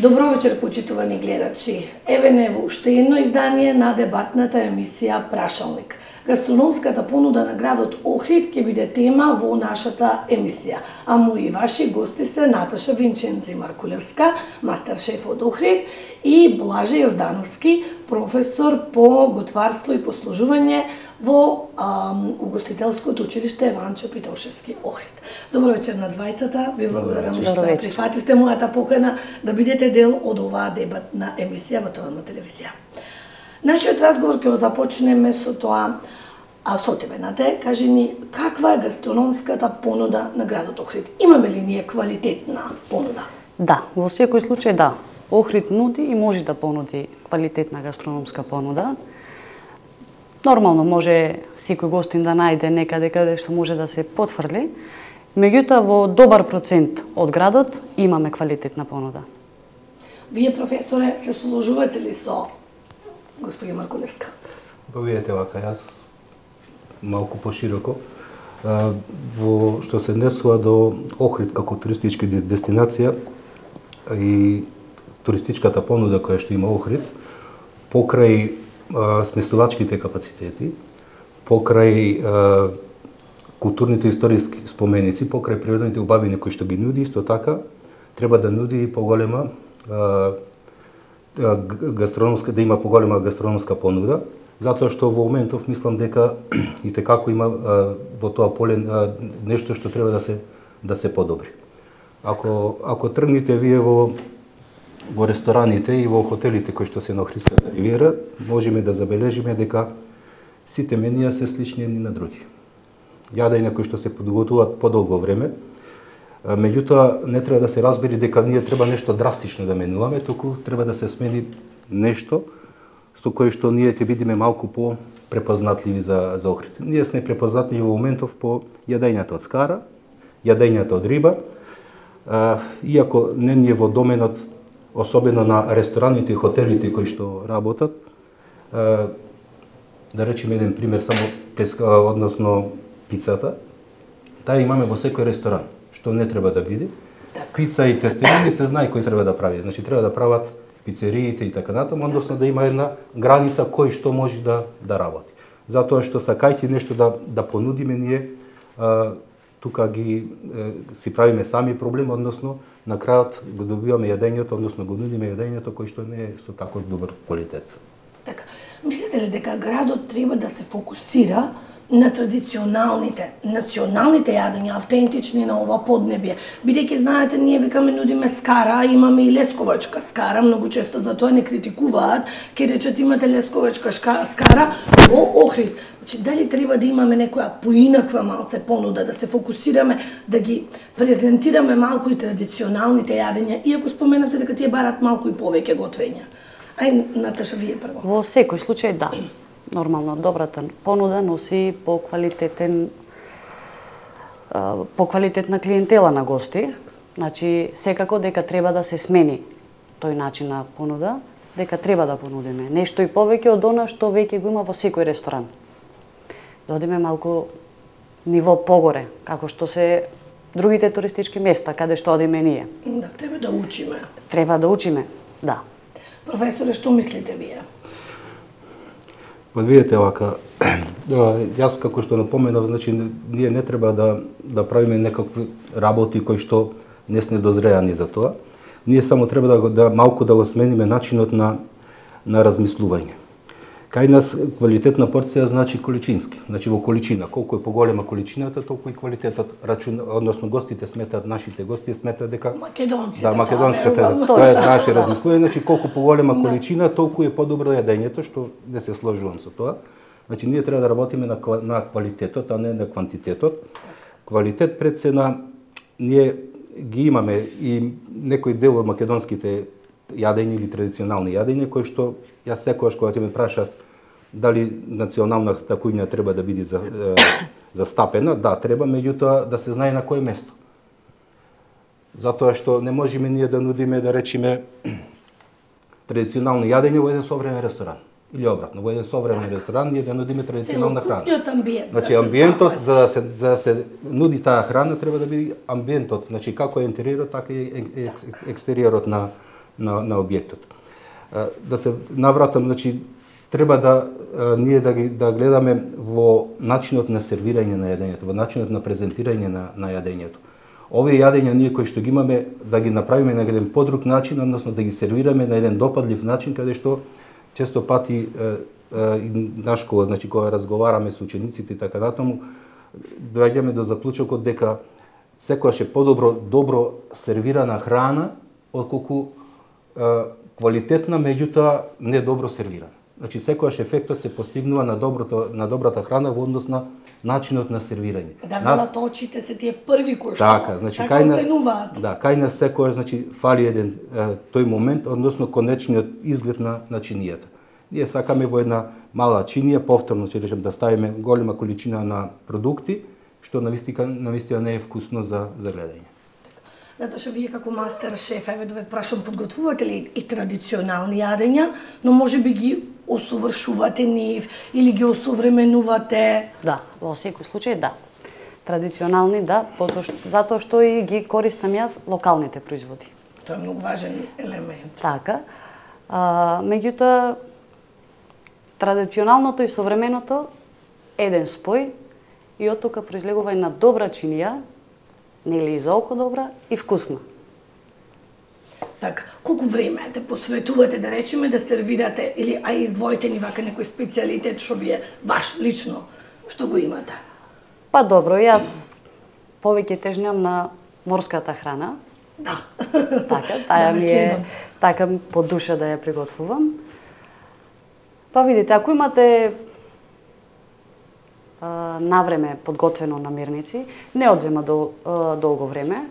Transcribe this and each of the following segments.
Добро вечер, почитувани гледачи. Еве не во уште едно издание на дебатната емисија Прашалник. Гастрономската понуда на градот Охрид ќе биде тема во нашата емисија. А мои ваши гости се Наташа Винченци Маркулевска, мастер-шеф од Охрид, и Блаже Јордановски, професор по готварство и послужување во угостителското училиште Еванчо Питошевски Охрид. Добро вечер на двајцата. Ви благодарам што ја прифативте мојата покана да бидете дел од оваа дебатна емисија во ТВ телевизија. Нашиот разговор ќе го започнеме со тоа, со тебе, Нате, кажи ни каква е гастрономската понуда на градот Охрид? Имаме ли ние квалитетна понуда? Да, во секој случај да. Охрид нуди и може да понуди квалитетна гастрономска понуда. Нормално може секој гостин да најде некаде каде што може да се потврли, меѓутоа во добар процент од градот имаме квалитетна понуда. Вие, професоре, се соложувате ли со господи Маркулевска? Видете вака, јас малку пошироко. Во што се однесува до Охрид како туристичка дестинација и туристичката понуда која што има Охрид, покрај сместувачките капацитети, покрај културните историски споменици, покрај природните убавини кои што ги нуди, исто така треба да нуди и поголема гастрономска, да има поголема гастрономска понуда, затоа што во моментов мислам дека и tekako има во тоа поле нешто што треба да се подобри. Ако тргнете вие во рестораните и во хотелите кои што се на Охридската ривиера, можеме да забележиме дека сите менија се слични едни на други. Јадења кои што се подготвуваат подолго време, меѓутоа не треба да се разбери дека ние треба нешто драстично да менуваме, туку треба да се смени нешто со кое што ние ќе бидеме малку по препознатливи за Охрид. Ние сме препознатливи во моментов по јадењата од скара, јадењата од риба, иако не ние во доменот, особено на рестораните и хотелите кои што работат, да речеме еден пример само односно пицата, таа имаме во секој ресторан, што не треба да биде. Пица и тестелини се знае кој треба да прави, значи треба да прават пицериите и така натаму, односно да има една граница кој што може да работи. Затоа што сакајќи нешто да понудиме ние, тука си правиме сами проблем, односно на крајот го добиваме јадењето, односно го нудиме јадењето кој што не е со таков добар квалитет. Така, мислите ли дека градот треба да се фокусира на традиционалните, националните јадења, автентични на ова поднебие? Бидејќи знаете, ние викаме нудиме скара, а имаме и лесковачка скара, многу често за тоа не критикуваат, ке речат имате лесковачка скара во Охрид. Значи, дали треба да имаме некоја поинаква малце понуда, да се фокусираме, да ги презентираме малку и традиционалните јадења, иако споменавте дека тие барат малку и повеќе готвења. Ај, Наташа, вие прво. Во секој случај да. Нормално, добрата понуда носи по квалитетна клиентела на гости. Значи, секако дека треба да се смени тој начин на понуда, дека треба да понудиме нешто и повеќе од она што веќе го има во секој ресторан. Да одиме малку ниво погоре, како што се другите туристички места, каде што одиме ние. Да, треба да учиме. Треба да учиме, да. Професоре, што мислите вие? Видете вака, јас како што напоменав, значи ние не треба да правиме некакви работи кои што не сме дозреани за тоа. Ние само треба малку да го смениме начинот на размислување. Кај нас квалитетна порција значи количински, значи во количина. Колку е поголема количината, толку и квалитетот. Односно гостите сметаат, нашите гости сметаат дека македонската, тоа е наше размислување, значи колку поголема количина, толку е подобро јадењето, што не се сложувам со тоа. Значи ние треба да работиме на квалитетот, а не на квантитетот. Квалитет пред се ние ги имаме и некој дел од македонските јадења или традиционални јадења кои што јас секогаш кога ќе ме прашаат дали националната кујна треба да биде застапена, да, треба, меѓутоа да се знае на кој место. Затоа што не можеме ние да нудиме, да речеме, традиционални јадења во еден современ ресторан. Или обратно, во еден современ ресторан ние да нудиме традиционална храна. Значи амбиентот, за да се нуди таа храна, треба да биде амбиентот, значи како е интериерот, така и екстериерот на на објектот. Да се навратам, значи треба да ние да гледаме во начинот на сервирање на јадењето, во начинот на презентирање на јадењето. Овие јадења ние кои што ги имаме да ги направиме на еден подруг начин, односно да ги сервираме на еден допадлив начин, каде што често пати на школа, значи кога разговараме со учениците и така натаму, доаѓаме до заклучокот дека секогаш е добро сервирана храна отколку квалитетна, меѓутоа не добро сервирана. Значи секогаш ефектот се постигнува на добрата храна во однос на начинот на сервирање. Да, велат очите се тие први кои што така, значи, така оценуваат. Да, кај нас секогаш значи фали еден тој момент, односно конечниот изглед на чинијата. Ние сакаме во една мала чинија, повторно ќе речем да ставиме голема количина на продукти, што навистина не е вкусно за гледање. Затоа што вие како мастер шеф, еве да ве прашам, подготвувате ли и традиционални јадења, но може би ги осовршувате нив или ги осовременувате? Да, во секој случај да. Традиционални да, затоа што и ги користам јас локалните производи. Тоа е многу важен елемент. Така. Меѓутоа традиционалното и современото еден спој и од тука произлегува една добра чинија, нели и за око добра и вкусна. Така, колку време те посветувате да речеме да сервирате или издвоите ни вака некој специјалитет што ви е ваш лично, што го имате? Па добро, јас повеќе тежнам на морската храна. Да. Така, таа ми е така по душа да ја приготвувам. Па видите, ако имате навреме подготвено намирници, не одзема долго време.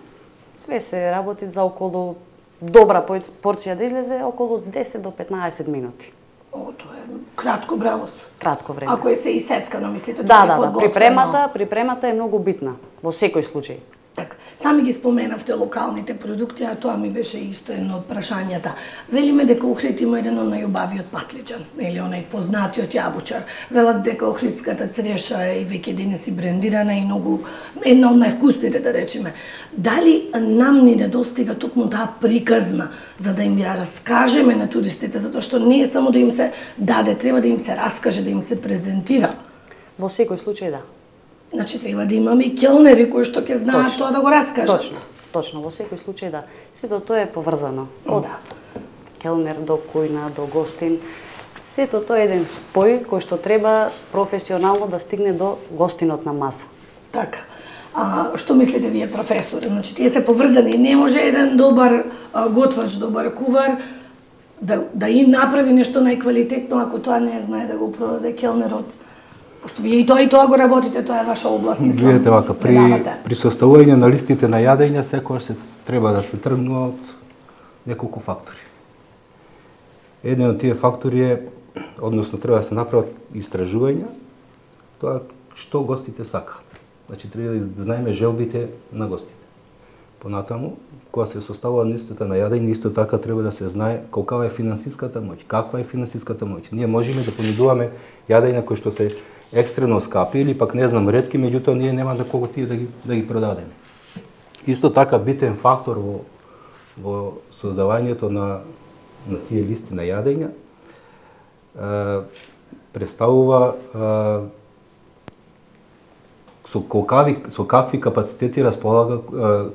Све се работи за околу добра порција да излезе околу 10 до 15 минути. О, тоа е кратко бравос. Кратко време. Ако е се исецкано, мислите, да, тоа е подготвено. Припремата е многу битна во секој случај. Така, сами ги споменавте локалните продукти, а тоа ми беше исто едно од прашањата. Велиме дека Охрид има еден од најубавиот патличан, или онај познатиот јабучар. Велат дека охридската цреша е и веќе денес и брендирана и многу една од највкусните, да речеме. Дали нам ни недостига токму таа приказна за да им ја раскажеме на туристите, затоа што не е само да им се даде, треба да им се раскаже, да им се презентира. Во секој случај да. Значи треба да имаме и келнери кои што ќе знаат тоа да го раскажат. Точно, во секој случај да. Сето тоа е поврзано. Од келнер до кујна, до гостин. Сето тоа е еден спој кој што треба професионално да стигне до гостинот на маса. Така. Што мислите вие, професор? Значи тие се поврзани. Не може еден добар готвач, добар кувар да им направи нешто најквалитетно ако тоа не знае да го продаде келнерот. Пошто вие и тоа го работите, тоа е ваша област, мислам. Гледате вака, при составување на листите на јадења секогаш се треба да се тргнува од неколку фактори. Еден од тие фактори е, односно треба да се направат истражувања, тоа што гостите сакаат. Значи треба да знаеме желбите на гостите. Понатаму, кога се составува листата на јадење, исто така треба да се знае колкава е финансиската моќ, каква е финансиската моќ. Ние можеме да понудуваме јадења кои што се екстрено скапи или пак не знам ретки, меѓутоа ние нема да колку тие да ги продадеме. Исто така битен фактор во создавањето на тие листи на јадења представува со какви капацитети располага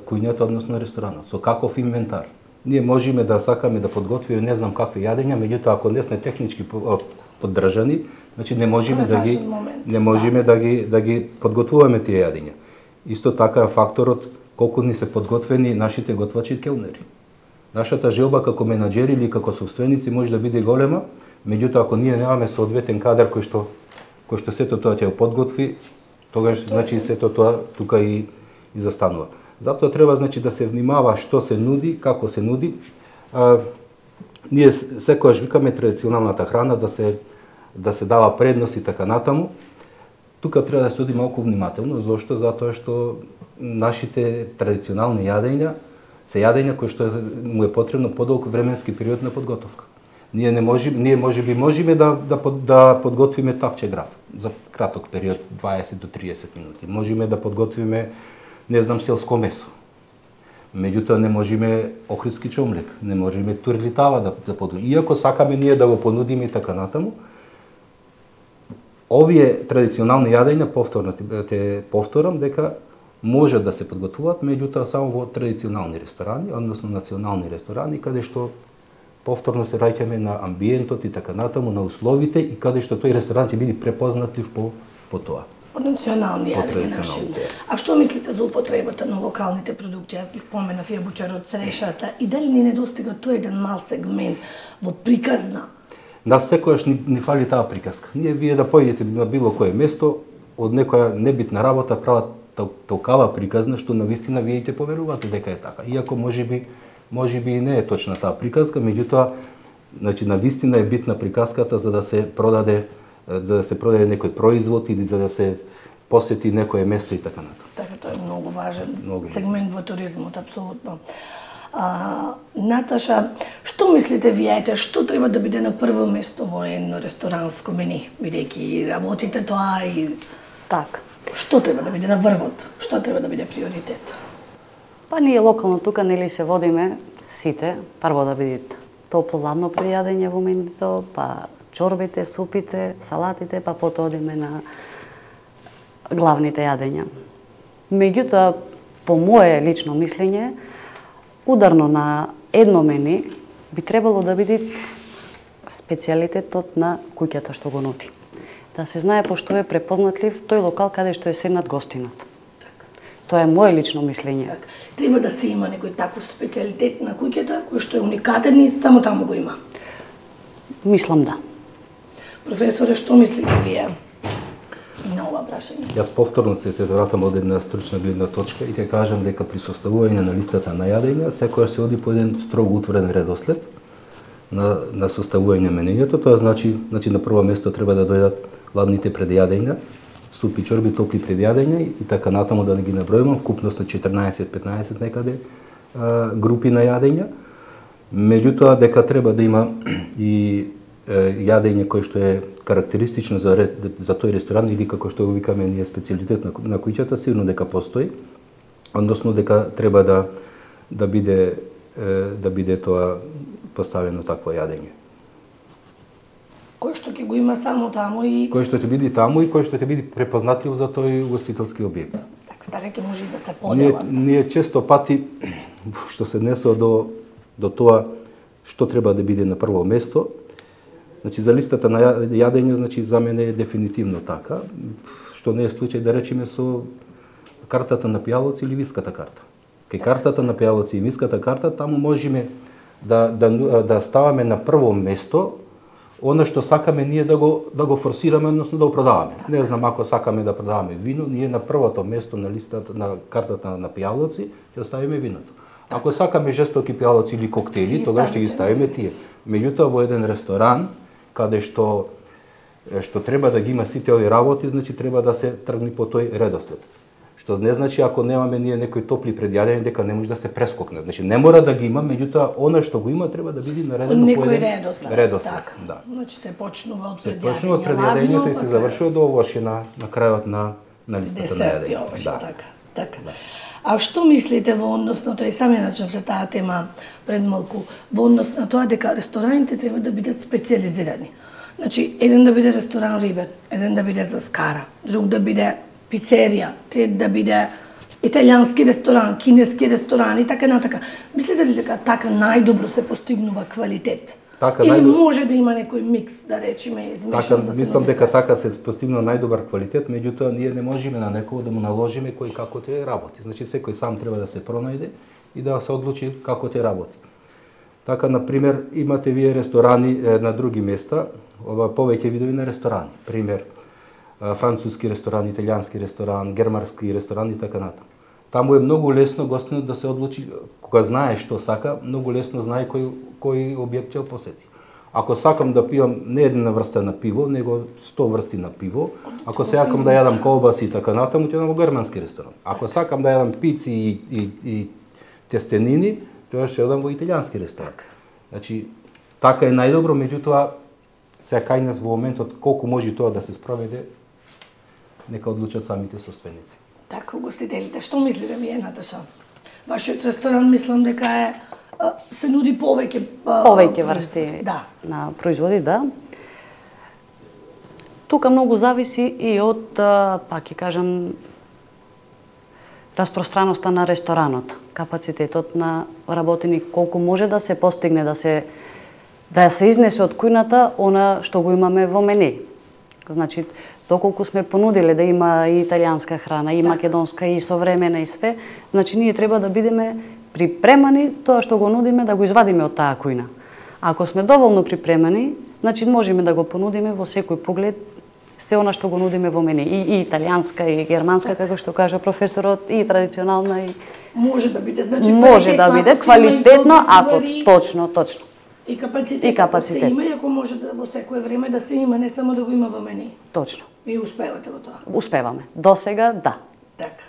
кујњата, односно ресторанот, со каков инвентар. Ние можеме да сакаме да подготвиме не знам какви јадења, меѓутоа ако не сме технички поддржани, значи не можеме да ги подготвуваме тие јадења. Исто така е факторот колку ни се подготвени нашите готвачи и келнери. Нашата желба како менаџери или како сопственици може да биде голема, меѓутоа ако ние немаме соодветен кадар кој што сето тоа ќе го подготви, тогаш значи сето тоа тука и застанува. Затоа треба значи да се внимава што се нуди, како се нуди. Ние секогаш викаме традиционалната храна да се дава предност и така натаму. Тука треба да се оди малку внимателно, зошто? Затоа што нашите традиционални јадења се јадења кои што му е потребно подолг временски период на подготовка. Ние можеме да подготвиме тавче граф за краток период, 20 до 30 минути. Можеме да подготвиме, не знам, селско месо. Меѓутоа не можеме охридски чомлек, не можеме турлитава да понудиме. Иако сакаме ние да го понудиме и така натаму, овие традиционални јадења, повторам дека може да се подготвуваат, меѓутоа само во традиционални ресторани, односно национални ресторани, каде што повторно се раѓаме на амбиентот и така натаму, на условите и каде што тој ресторан ќе биде препознатлив по тоа. По национални јадења наши. А што мислите за употребата на локалните продукти? Јас ги споменав јабучарот, црешата, и дали ни недостига тој еден мал сегмент во приказна? Нас секојаш ни фали таа приказка. Вие да појдете на било кое место, од некоја небитна работа прават толкава приказна што навистина вие ќе поверувате дека е така. Иако можеби и не е точна таа приказка, меѓутоа значи навистина е битна приказката за да се продаде некој производ или за да се посети некое место и така натаму. Така, тоа е многу важен сегмент во туризмот, апсолутно. Наташа, што мислите вие, што треба да биде на прво место во едно ресторанско мени, бидејќи работите тоа и така? Што треба да биде на врвот? Што треба да биде приоритет? Па ние локално тука нели се водиме сите, прво да бидат топло-ладно пријадење во менито, па чорбите, супите, салатите, па потоа одиме на главните јадења. Меѓутоа, по мое лично мислење, ударно на едно мени би требало да биде специјалитетот на куќата што го нуди. Да се знае пошто е препознатлив тој локал каде што е седнат гостинот. Тоа е мое лично мислење. Треба да се има некој таков специјалитет на куќата кој што е уникатен и само таму го има. Мислам да. Професоре, што мислите вие на ова прашање? Јас повторно се вратам од една стручна гледна точка и ќе кажам дека при составување на листата на јадења секојаш се оди по еден строго утворен редослед на составување на менујето. Тоа значи на прво место треба да дојдат ладните предјадења, супи, чорби, топли предјадења и така натаму да ги набројувам, вкупност на 14-15 некаде групи на јадења. Меѓутоа дека треба да има и јадење кој што е карактеристично за тој ресторан или како што го викаме ние специјалитет на куќата, сигурно дека постои, односно дека треба да биде тоа поставено такво јадење. Кој што ќе го има само таму и кој што ќе биде таму и кој што ќе биде препознатлив за тој угостителски објект. Така ќе може и да се поделат. Ние често пати што се однесува до тоа што треба да биде на прво место. Значи за листата на јадење, значи за мене е дефинитивно така, што не е случај да речеме со картата на пијалоци или виската карта. Кај картата на пијалоци и виската карта таму можеме да ставаме на прво место она што сакаме ние да го форсираме, односно да го продаваме. Не знам, ако сакаме да продаваме вино, ние на првото место на листата на картата на пијалоци ќе ставиме виното. Ако сакаме жестоки пијалоци или коктели, тогаш ќе ги ставиме тие. Меѓутоа во еден ресторан каде што треба да ги има сите овие работи, значи треба да се тргне по тој редослед. Што не значи ако немаме ние некои топли предјадења дека не може да се прескокне. Значи не мора да ги има, меѓутоа она што го има треба да биде наредено по еден редослед. Така. Да. Значи се почнува од предјадењето. Се почнува од предјадењето и се завршува до овоше на крајот на листата на јадење. Да. Така. Да. А што мислите во однос на тоа, и сами начнавте таа тема пред малку, во однос на тоа дека рестораните треба да бидат специјализирани? Значи, еден да биде ресторан рибен, еден да биде за скара, друг да биде пицерија, трет да биде италијански ресторан, кинески ресторан и така натака. Мислите ли дека така најдобро се постигнува квалитет? Или може да има некој микс, да речеме, измешан да се мислам дека така се постигнува најдобар квалитет, меѓутоа ние не можеме на некого да му наложиме кој како ќе работи. Значи секој сам треба да се пронајде и да се одлучи како ќе работи. Така, например, имате вие ресторани на други места, повеќе видови на ресторани. Пример, француски ресторан, италијански ресторан, германски ресторан и така натаму. Таму е многу лесно гостинот да се одлучи, кога знае што сака, многу лесно знае кој објект ќе посети. Ако сакам да пијам не една врста на пиво, него 100 врсти на пиво, ако сакам да јадам колбаси и така натаму, ќе во германски ресторан. Ако сакам да јадам пици и тестенини, тоа ќе одам во италијански ресторан. Значи, така е најдобро, меѓутоа се кај нас во моментот колку може тоа да се спроведе, нека одлучат самите собственици. Така, угостителите. Што мислите вие, Наташа? Вашиот ресторан мислам дека е се нуди повеќе врсти на производи, да. Тука многу зависи и од, пак ќе кажам, распространоста на ресторанот, капацитетот на работени, колку може да се постигне, да се изнесе од кујната она што го имаме во мене. Значи, доколку сме понудиле да има и италијанска храна, и македонска, и современа и све, значи ние треба да бидеме припремани тоа што го нудиме да го извадиме од таа кујна. Ако сме доволно припремани, значи можеме да го понудиме во секој поглед се она што го нудиме во мене, и италијанска, и германска, како што кажа професорот, и традиционална, и може да биде, значи може да биде квалитетно, ако точно. И капацитет. Да се има, и ако може да во секое време да се има, не само да го има во мене. Точно. И успевате во тоа? Успеваме. До сега, да. Така.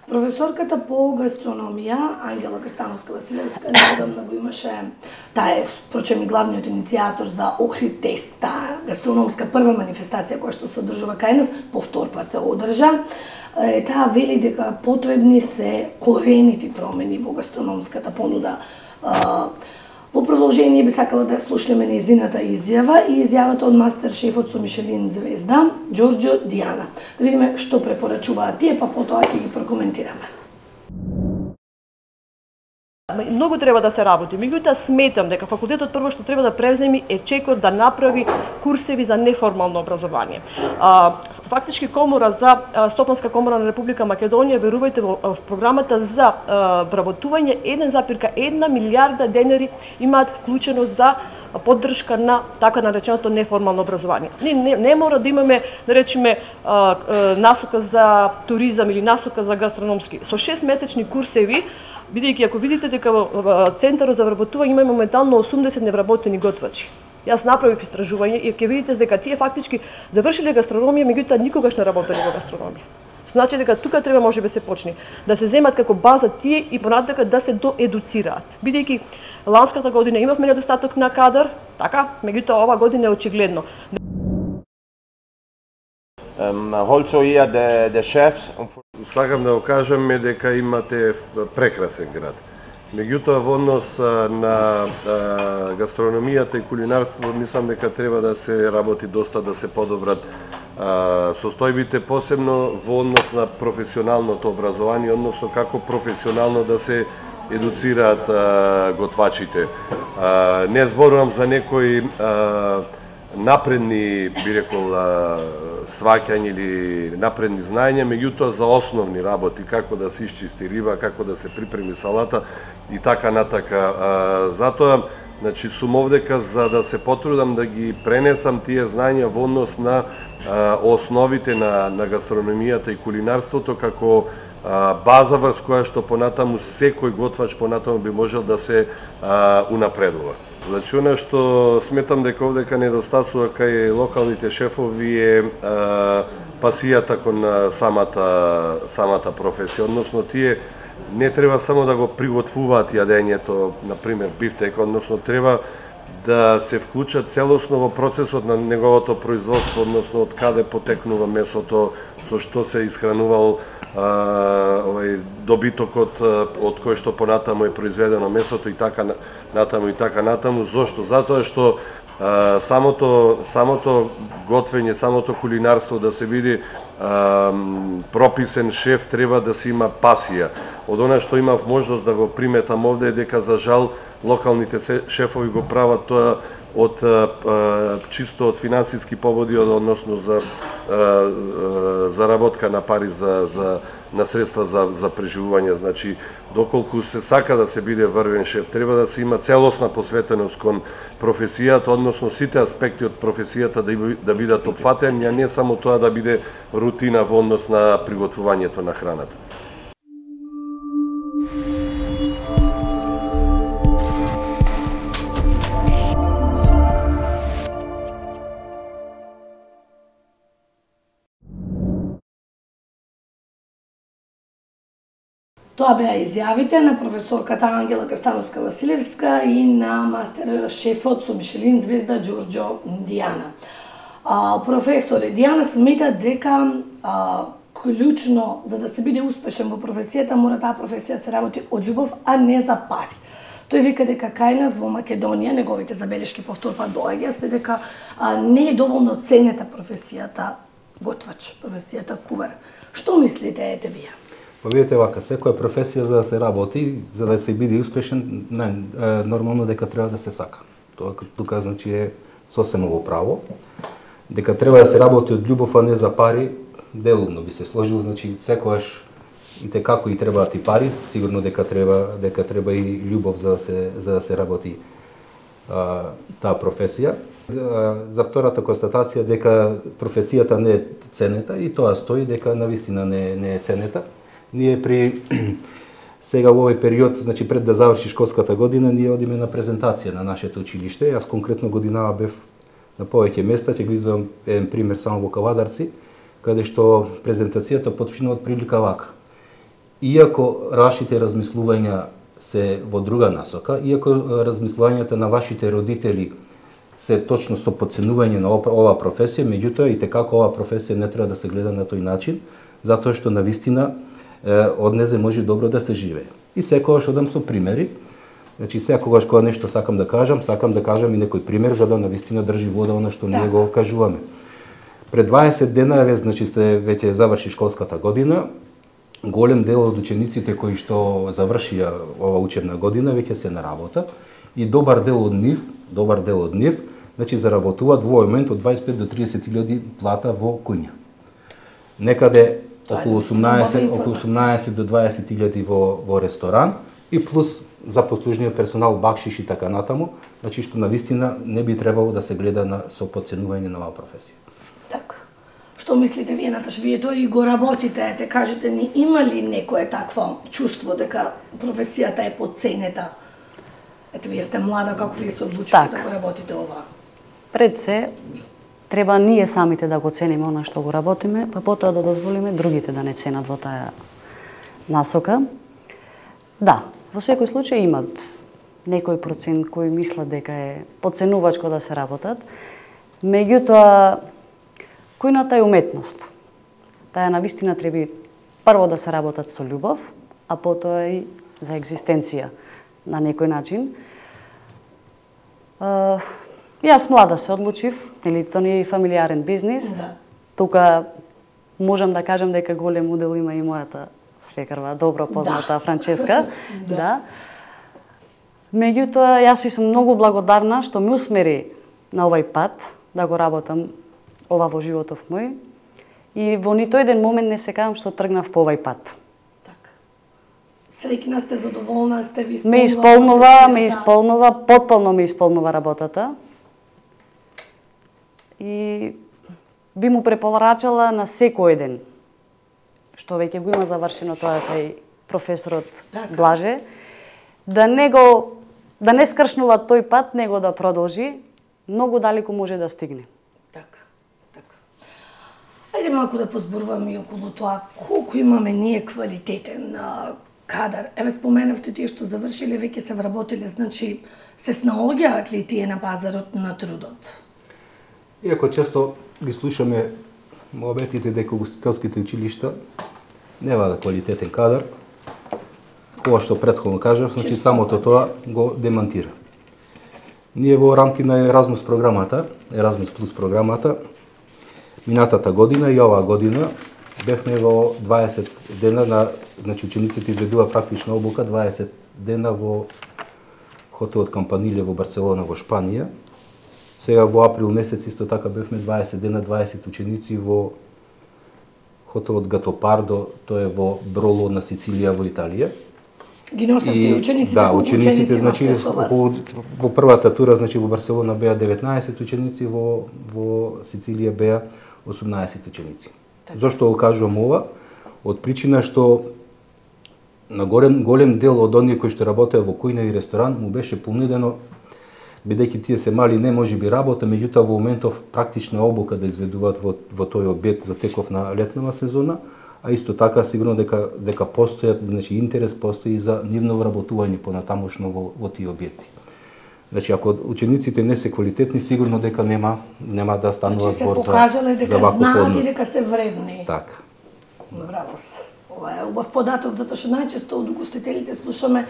Професорката по гастрономија, Ангела Крстановска-Василевска, недавно го имаше, таа е, впрочем, и главниот иницијатор за Охрид тест, таа гастрономска прва манифестација која што се одржува кај нас, по втор пат се одржа. Таа вели дека потребни се корените промени во гастрономската понуда. Во продолжение би сакала да слушнеме нејзината изјава и изјавата од мастер шефот со Мишелин звезда, Ѓорѓо Дијана. Да видиме што препорачуваат тие, па потоа ќе ги прокоментираме. Многу треба да се работи. Меѓутоа сметам дека факултетот прво што треба да превземе е чекор да направи курсеви за неформално образование. Фактички комора за Стопанска комора на Република Македонија, верувајте, во програмата за вработување 1,1 милијарда денари имаат вклучено за поддршка на така нареченото неформално образование. Не мора да имаме, да речеме, насока за туризам или насока за гастрономски. Со 6-месечни курсеви, бидејќи ако видите дека во Центарот за вработување има моментално 80 невработени готвачи. Јас направив истражување и ќе видите дека тие фактички завршиле гастрономија, меѓутоа никогаш не работеле во гастрономија. Значи дека тука треба можеби се почне да се земат како база тие и понатака да се доедуцираат. Бидејќи ланската година имавме недостаток на кадар, така, меѓутоа ова година е очигледно. Also hier der chefs. Сакам да го кажам дека имате прекрасен град. Меѓутоа во однос на гастрономијата и кулинарството мислам дека треба да се работи доста, да се подобрат состојбите, посебно во однос на професионалното образование, односно како професионално да се едуцираат готвачите. Не зборувам за некои напредни, би рекол, сваќање или напредни знаења, меѓутоа за основни работи, како да се исчисти риба, како да се припреми салата и така натака. Затоа, значи, сум овдека за да се потрудам да ги пренесам тие знаења во однос на основите на гастрономијата и кулинарството како база врз која што понатаму секој готвач понатаму би можел да се унапредува. Значи, она што сметам дека овдека недостасува кај локалните шефови е пасијата кон самата професија, односно тие не треба само да го приготвуваат јадењето, например бифтек, односно треба да се вклучат целосно во процесот на неговото производство, односно од каде потекнува месото, со што се исхранувал добитокот од кој што понатаму е произведено месото и така натаму. Зошто? Затоа што самото готвење, самото кулинарство да се биде прописен шеф треба да се има пасија. Од она што имав можност да го приметам овде е дека за жал локалните шефови го прават тоа од чисто од финансиски поводи, односно за заработка на пари на средства за преживување. Значи, доколку се сака да се биде врвен шеф, треба да се има целосна посветеност кон професијата, односно сите аспекти од професијата да бидат опфатени, а не само тоа да биде рутина во однос на приготвувањето на храната. Тоа беа изјавите на професорката Ангела Крстановска-Василевска и на мастер шефот со Мишелин звезда Ѓорѓо Дијана. Професоре, Дијана смета дека клучно за да се биде успешен во професијата, мора таа професија се работи од љубов, а не за пари. Тој вика дека кај нас во Македонија, неговите забелешки повтор пат доаѓа, се дека не е доволно ценета професијата готвач, професијата кувар. Што мислите ете вие? Па видите вака, секоја професија за да се работи, за да се биде успешен, нормално дека треба да се сака. Тоа тука значи е сосема во право. Дека треба да се работи од љубов, а не за пари, делумно би се сложил, значи секогаш и те како и требаат и пари, сигурно дека треба и љубов за да се работи таа професија. За втората констатација дека професијата не е ценета и тоа стои дека навистина не е ценета. Ние при сега во овој период, значи пред да заврши школската година, ние одиме на презентација на нашето училиште. Јас конкретно годинава бев на повеќе места, ќе го изведам еден пример само во Кавадарци, каде што презентацијата почнува од прилика вака. Иако вашите размислувања се во друга насока, иако размислувањата на вашите родители се точно со подценување на оваа професија, меѓутоа и како оваа професија не треба да се гледа на тој начин, затоа што навистина од незе може добро да се живее. И секогаш одам со примери. Значи секогаш кога нешто сакам да кажам и некој пример за да навистина држи вода она што ние го кажуваме. Пред 20 дена значи сте веќе заврши школската година. Голем дел од учениците кои што завршија ова учебна година веќе се на работа и добар дел од нив значи заработуваат во момент од 25 до 30.000 плата во куња. Некаде околу 18 до 20.000 во ресторан и плюс запослужниот персонал, бакшиш и така натаму, значи што навистина не би требало да се гледа со подценување на оваа професија. Така. Што мислите вие, Наташ? Вие тој и го работите, те кажете ни, има ли некое такво чувство дека професијата е подценета? Ете, вие сте млада, како вие се одлучите да го работите ова? Пред се, треба ние самите да го цениме она што го работиме, па потоа да дозволиме другите да не ценат во таа насока. Да, во секој случај имат некој процент кои мислат дека е подценувачко да се работат, меѓутоа кујната е уметност. Таа навистина треба прво да се работат со љубов, а потоа и за екзистенција на некој начин. Јас млада се одлучив, нели тоа не е фамилиарен бизнис. Да. Тука можам да кажам дека голем удел има и мојата свекрва, добро позната Франческа. Да. Меѓутоа, јас сум многу благодарна што ме усмери на овај пат да го работам ова во животов мој. И во нито еден момент не се кажам што тргнав по овај пат. Така. Среќна сте, задоволна сте, ви Ме исполнува, потполно ме исполнува работата. И би му препорачала на секој еден што веќе го има завршено тоа кај професорот Блаже, да не скршнува тој пат, него да продолжи, многу далеку може да стигне. Така. Ајде малку да позборуваме и околу тоа колку имаме ние квалитетен кадар. Еве споменавте тие што завршиле, веќе се вработиле, значи се снаоѓаат ли тие на пазарот на трудот? Иако често ги слушаме муабетите дека угостителските училишта нема квалитетен кадар, ова што претходно кажав, значи самото тоа го демантира. Ние во рамки на Еразмус Плюс програмата, минатата година и оваа година бевме во 20 дена значи учениците изведува практична обука 20 дена во хотелот Кампаниле во Барселона во Шпанија. Сега во април месец исто така бевме 20 дена, 20 ученици во хотелот Гатопардо, тоа е во Броло на Сицилија во Италија. Ги носевте учениците, да, колку ученици значи во првата тура значи во Барселона беа 19 ученици, во Сицилија беа 18 ученици. Так. Зошто го кажувам ова? Од причина што на голем дел од оние кои што работеа во кујна и ресторан му беше понудено, бидејќи тие се мали, не можеби работа, меѓутоа во моментов практична обука да изведуваат во тој објект за теков на летнава сезона, а исто така сигурно дека постојат, значи интерес постои за нивно вработување понатамошно во тие објекти. Значи ако учениците не се квалитетни, сигурно дека нема да станува збор за ваков однос. Значи се покажале дека знаат и дека се вредни. Така. Браво. Ова е убав податок, затоа што најчесто од угостителите слушаме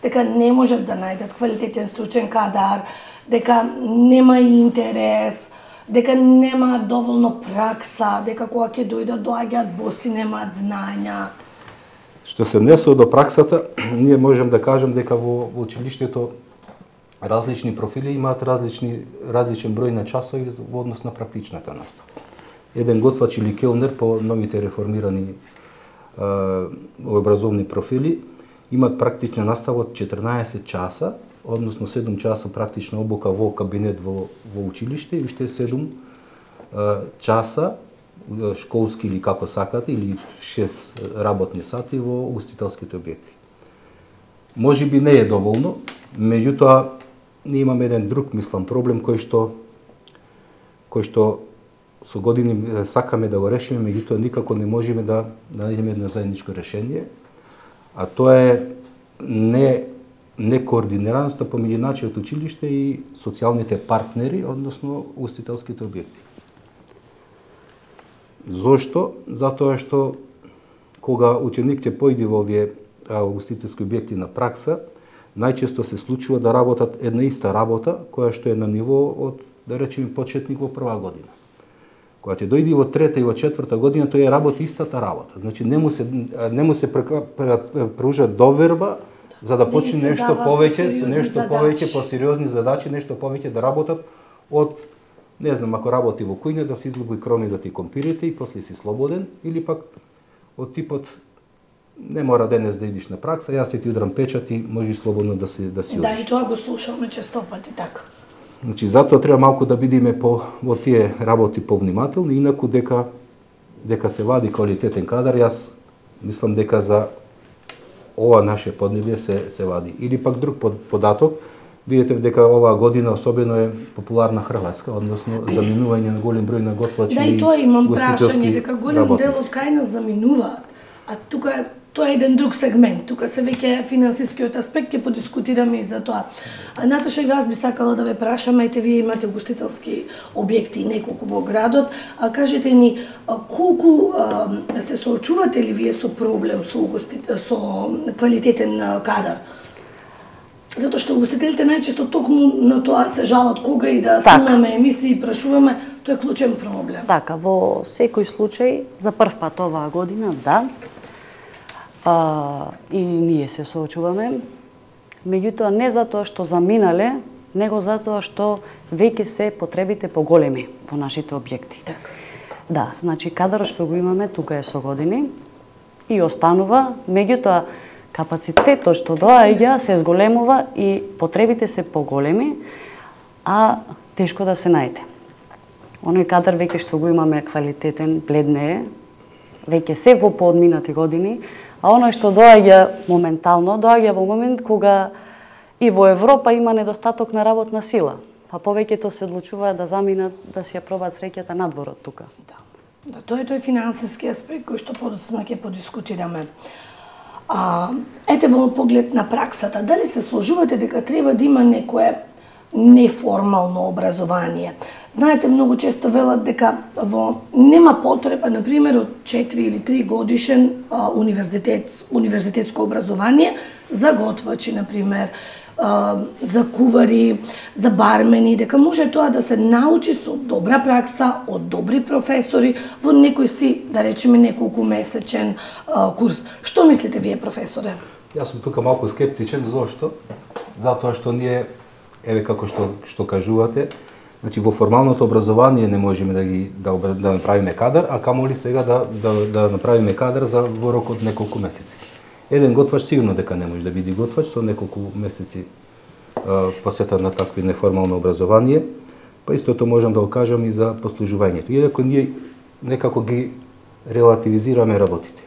дека не можат да најдат квалитетен стручен кадар, дека нема интерес, дека нема доволно пракса, дека кога ќе доаѓаат боси, немаат знања. Што се однесува до праксата, ние можем да кажем дека во училиштето различни профили имаат различен број на часови во однос на практичната настава. Еден готвач или келнер по новите реформирани образовни профили имаат практична настава од 14 часа, односно 7 часа практична обука во кабинет во училиште и уште 7 часа школски или како сакате, или 6 работни сати во угостителските објекти. Може би не е доволно, меѓутоа ние имаме еден друг, мислам, проблем кој што со години сакаме да го решиме, меѓутоа никако не можеме да најдеме едно заедничко решение, а тоа е некоординираноста помеѓу начинот училиште и социјалните партнери, односно угостителските објекти. Зошто? Затоа што кога ученик ќе појде во овие угостителски објекти на пракса, најчесто се случува да работат една иста работа, која што е на ниво од, да речеме, почетник во прва година. Кога ќе дојде во трета и во четврта година, тој работи истата работа. Значи не му се пружа доверба за да почне нешто повеќе, посериозни задачи, нешто повеќе да работат од, не знам, ако работи во кујна, да се излуби кромидот и компирите и после си слободен, или пак од типот не мора денес да идиш на пракса, јас ти удрам печат и можеш слободно да си одиш. Да, и тоа го слушаме често пати така. Значи, затоа треба малку да бидеме во тие работи повнимателни, инаку дека се вади квалитетен кадар, јас мислам дека за ова наше поднебје се вади. Или пак друг податок, видите дека оваа година особено е популарна Хрватска, односно заминување на голем број на готвачи. Да, и тоа имам прашање, дека голем дел од кај нас заминуваат, а тука тоа е еден друг сегмент. Тука се веќе финансискиот аспект, ќе подискутираме и за тоа. Наташа, и вас би сакала да ве прашам, ете вие имате угостителски објекти неколку во градот, кажете ни колку се соочувате ли вие со проблем со квалитетен кадар? Затоа што угостителите најчесто токму на тоа се жалат кога и да снимаме емисии и прашуваме, тоа е клучен проблем. Така, во секој случај, за прв пат оваа година, да, и ние се соочуваме, меѓутоа не затоа што заминале, него затоа што веќе се потребите поголеми во нашите објекти. Така. Да, значи кадарот што го имаме тука е со години и останува, меѓутоа капацитетот што доаѓа се зголемува и потребите се поголеми, а тешко да се најде. Оној кадар веќе што го имаме квалитетен, бледне е, веќе се во поодминати години, а оној што доаѓа моментално, доаѓа во момент кога и во Европа има недостаток на работна сила, па повеќето се одлучуваат да заминат да си ја пробаат среќата надвор од тука. Да, тоа е тој финансиски аспект кој што подоцна ќе подискутираме. Ете во поглед на праксата, дали се сложувате дека треба да има некое неформално образование? Знаете, многу често велат дека нема потреба, например, од 4 или 3 годишен универзитетско образование за готвачи, например, за кувари, за бармени, дека може тоа да се научи со добра пракса, од добри професори, во некој си, да речеме, неколку месечен курс. Што мислите вие, професоре? Јас сум тука малку скептичен, зошто? Затоа што ние, еве како што кажувате, значи во формалното образование не можеме да направиме кадар, а камоли сега да направиме кадар во рок од неколку месеци. Еден готвач сигурно дека не може да биде готвач со неколку месеци посветен на такви неформално образование, па истото можам да го кажам и за послужувањето. Иако ние некако ги релативизираме работите.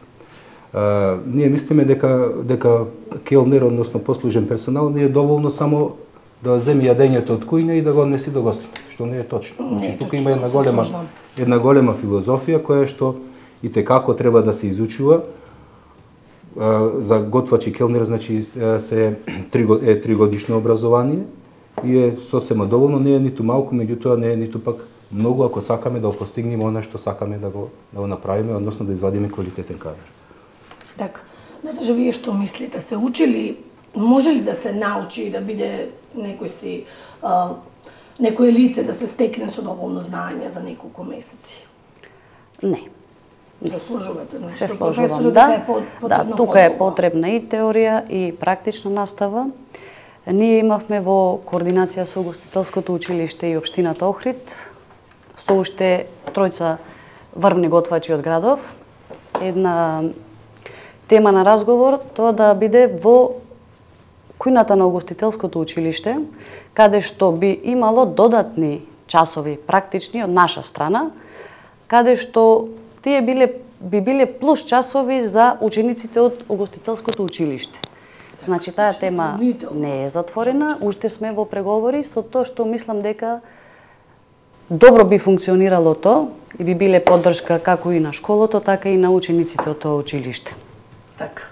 Ние мислиме дека келнер, односно послужен персонал, не е доволно само да земе јадењето од кујна и да го однеси до гостите, што не е точно. Значи, тука има една голема филозофија која што и текако треба да се изучува. За готвач и келнер, значи, се 3 годишно образование и е сосема доволно, не е ниту малку, меѓутоа не е ниту пак многу ако сакаме да го постигнеме она што сакаме да го направиме, односно да извадиме квалитетен кадар. Така. Наташа, вие што мислите? Се учили, може ли да се научи и да биде некое лице да се стекне со доволно знаење за неколку месеци? Не. Се сложувате, значи, Се што сложувам, професорот да. е потребно Да, тука е потребна и теорија и практична настава. Ние имавме во координација со Угостителското училиште и општината Охрид со уште тројца врвни готвачи од градов. Една тема на разговор тоа да биде во кујната на Угостителското училиште, каде што би имало додатни часови практични од наша страна, каде што тие би биле плюс часови за учениците од Угостителското училиште. Значи, таа тема не е затворена, уште сме во преговори со тоа што мислам дека добро би функционирало тоа и би биле поддршка како и на школото, така и на учениците од тоа училиште. Така.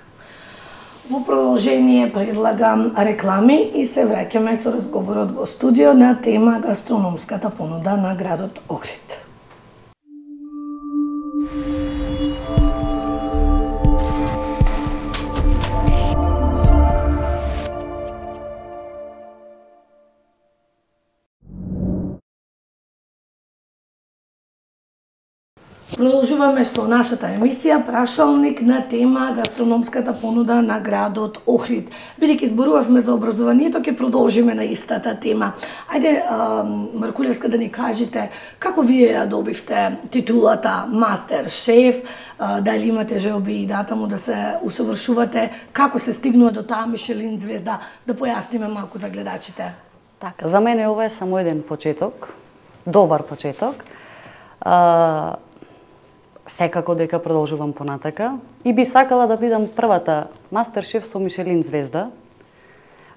Во продолжение предлагам реклами и се враќаме со разговорот во студио на тема гастрономската понуда на градот Охрид. Продолжуваме со нашата емисија Прашалник на тема гастрономската понуда на градот Охрид. Бидејќи зборувавме за образованието, ќе продолжиме на истата тема. Ајде, Маркулевска, да ни кажете како вие ја добивте титулата мастер шеф, дали имате желби и натаму да се усовршувате, како се стигнува до таа Мишелин звезда, да појасниме малку за гледачите. Така, за мене ова е само еден почеток, добар почеток. Секако дека продолжувам понатака и би сакала да бидам првата мастер шеф со Мишелин звезда.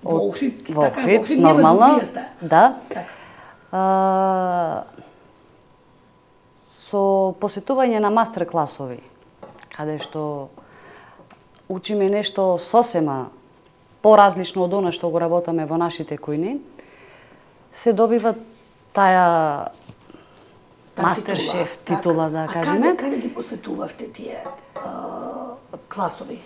Во Охрид, така, во Охрид нормално, вие сте. да. Така. Со посетување на мастер класови, каде што учиме нешто сосема поразлично од она што го работаме во нашите кујни, се добива таа мастер шеф титула, да кажеме. А каде ги посетувавте тие класови?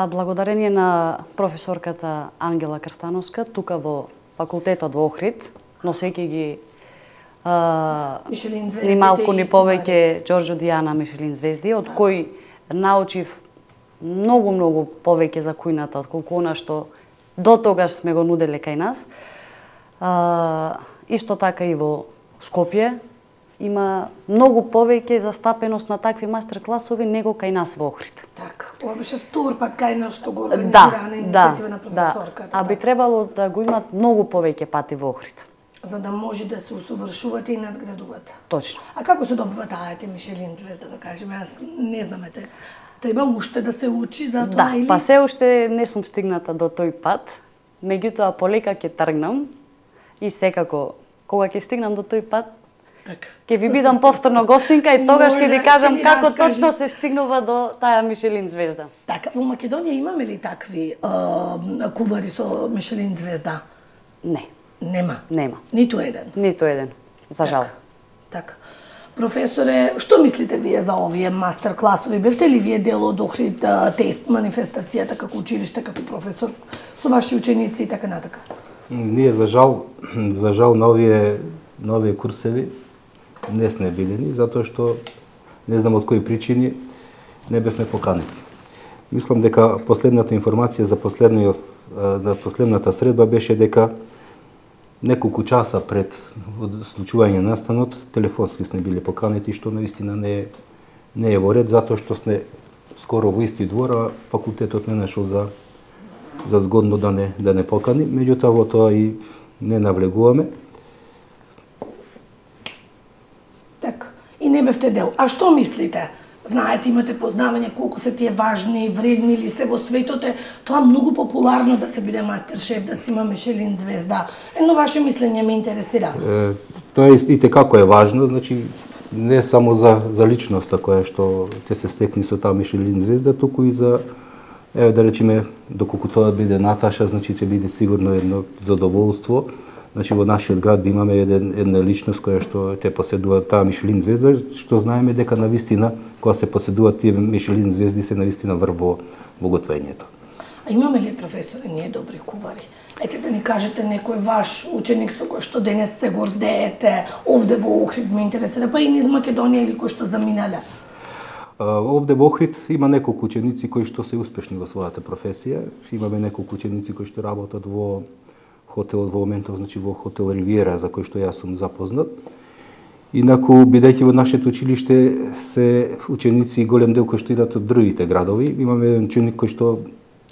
Благодарение на професорката Ангела Крстановска, тука во факултетот во Охрид, носејќи ги Мишелин звезди, ни малку ни повеќе Ѓорџо Дијана Мишелин звезди, од кој научив многу повеќе за кујната, отколку она што до тогаш сме го нуделе кај нас. Исто така и во Скопје има многу повеќе застапеност на такви мастер класови него кај нас во Охрид. Така, ова беше втор пат кај нас што го организира на иницијатива на професорката. А би требало да го имат многу повеќе пати во Охрид. За да може да се усовршувате и надградувате. Точно. А како се добива таа Мишелин звезда, да кажеме? Јас не знам, треба уште да се учи за тоа или? Да, се уште не сум стигната до тој пат, меѓутоа полека ќе тргнам и секако кога ќе стигнам до тој пат, така, ќе ви бидам повторно гостинка и тогаш ќе ви кажам како раскажи. точно се стигнува до таа Мишелин звезда. Така, во Македонија имаме ли такви кувари со Мишелин звезда? Не. Нема. Ниту еден, за жал. Така. Професоре, што мислите вие за овие мастер класови? Бевте ли вие дел од Охрид тест манифестацијата како училиште, како професор, со ваши ученици и така натака? Ние за жал на овие курсеви не сме билени, затоа што не знам од кои причини не бевме поканети. Мислам дека последната информација за последната средба беше дека неколку часа пред случување на настанот телефонски сме биле поканети, што наистина не е во ред, затоа што сме скоро во исти двор, а факултетот не нашол за згодно да не покани, меѓутоа во тоа и не навлегуваме. Така, и не бевте дел. А што мислите? Знаете, имате познавање колку се тие важни, вредни или се во светот е тоа многу популарно да се биде мастер шеф, да се има Мишелин звезда. Едно ваше мислење ме интересира. Тоа и како е важно, значи не само за личноста која што ќе се стекне со таа Мишелин звезда, туку и за, да речеме, доколку тоа биде Наташа, значи ќе биде сигурно едно задоволство Значи во нашиот град имаме една личност која што те поседува таа Мишелин звезда, што знаеме дека навистина кога се поседуваат тие Мишелин звезди се навистина врв во готвењето. А имаме ли професори ние добри кувари? Ете да ни кажете некој ваш ученик со кој што денес се гордеете, овде во Охрид ме интересира, па и низ Македонија или кој што заминале? Овде во Охрид има неколку ученици кои што се успешни во својата професија. Имаме неколку ученици кои што работат во хотел во моментов, значи во хотел Ривиера, за кој што јас сум запознат. Инаку, бидејќи во нашето училиште се ученици голем дел кои што идат од другите градови, имаме еден ученик кој што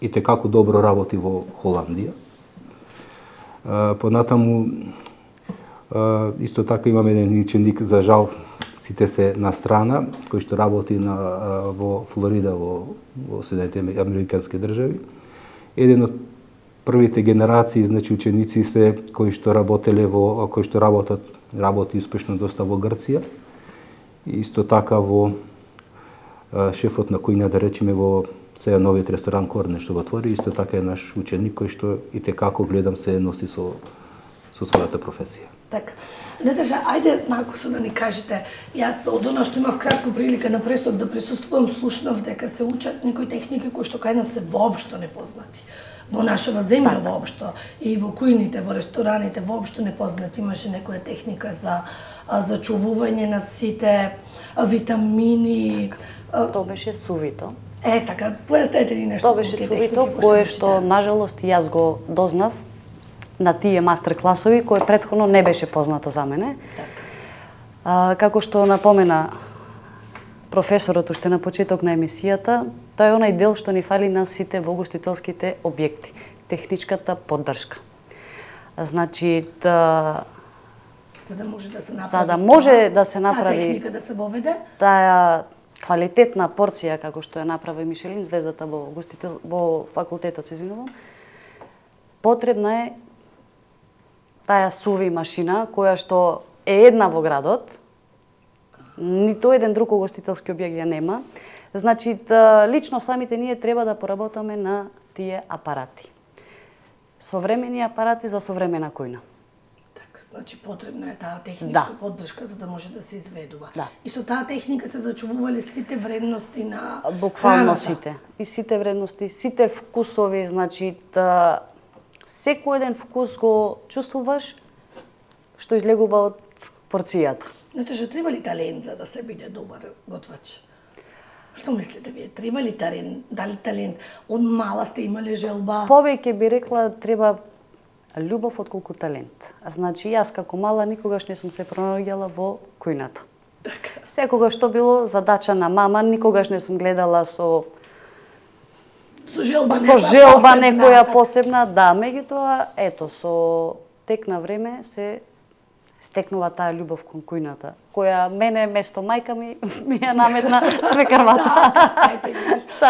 и текако добро работи во Холандија. Понатаму, исто така имаме еден ученик, за жал, сите се на страна, кој што работи во Флорида, во Соединетите Американски држави. Еден од првите генерации, значи ученици се кои што работеле кои што работи успешно доста во Грција. И исто така во шефот на кујна, да речеме, во сега новиот ресторан Корне што го отвори, исто така е наш ученик кој што и текако гледам се носи со својата професија. Така. Наташа, ајде накусо да ни кажете, јас од она што имав кратко прилика на пресок да присуствувам, слушнав дека се учат некои техники кои што кај нас се воопшто непознати. Во нашава земја воопшто и во кујните, во рестораните воопшто непознати. Имаше некоја техника за зачувување на сите витамини. Тоа беше сувито. Така, појаснете ни нешто. Тоа беше сувито, кое што, нажалост, јас го дознав на тие мастер класови, кој претходно не беше познато за мене. Како што напомена професорот уште на почеток на емисијата, тоа е онај дел што ни фали на сите во угостителските објекти, техничката поддршка. Значи, за да може да се направи, таа техника да се воведе, таа квалитетна порција како што ја направи Мишелин звездата во факултетот, извинувам, потребна е таа суви машина која што е една во градот. Нито еден друг угостителски објект ја нема. Значи, лично самите ние треба да поработаме на тие апарати. Современи апарати за современа кујна. Така, значи потребна е таа техничка поддршка за да може да се изведува. И со таа техника се зачувувале сите вредности на буквално храната. сите. И сите вредности, сите вкусови, значи секој еден вкус го чувствуваш што излегува од порцијата. Наташа, треба ли талент за да се биде добар готвач? Што мислите вие? Треба ли талент? Дали талент? Од мала сте имале желба? Повеќе би рекла треба љубов отколку талент. Значи, јас како мала никогаш не сум се пронаоѓала во кујната. Така. Секогаш што било задача на мама, никогаш не сум гледала со желба некоја посебна, да, меѓутоа, ето, со тек на време се стекнува таа љубов кон кујната, која мене место мајка ми ја наметна свекарвата.